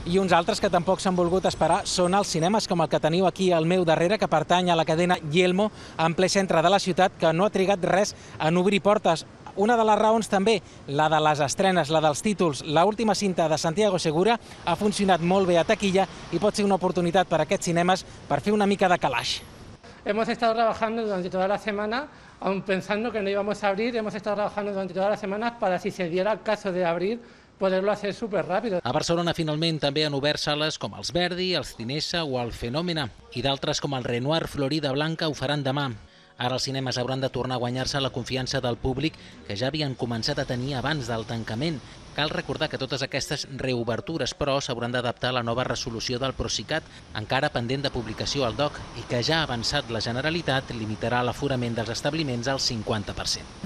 I uns altres que tampoc s'han volgut esperar són els cinemes, com el que teniu aquí al meu darrere, que pertany a la cadena Yelmo, en ple centre de la ciutat, que no ha trigat res en obrir portes. Una de les raons també, la de les estrenes, la dels títols. L'última cinta de Santiago Segura ha funcionat molt bé a taquilla i pot ser una oportunitat per a aquests cinemes per fer una mica de calaix. Hemos estado trabajando durante toda la semana, aun pensando que no íbamos a abrir, hemos estado trabajando durante todas las semanas para, si se diera el caso de abrir, poderlo hacer súper rápido. A Barcelona finalment també han obert sales com els Verdi, els Cinesa o el Fenòmena, i d'altres com el Renoir Florida Blanca ho faran demà. Ara els cinemes hauran de tornar a guanyar-se la confiança del públic que ja havien començat a tenir abans del tancament. Cal recordar que totes aquestes reobertures, però, s'hauran d'adaptar a la nova resolució del Procicat, encara pendent de publicació al DOC, i que ja ha avançat la Generalitat limitarà l'aforament dels establiments al 50%.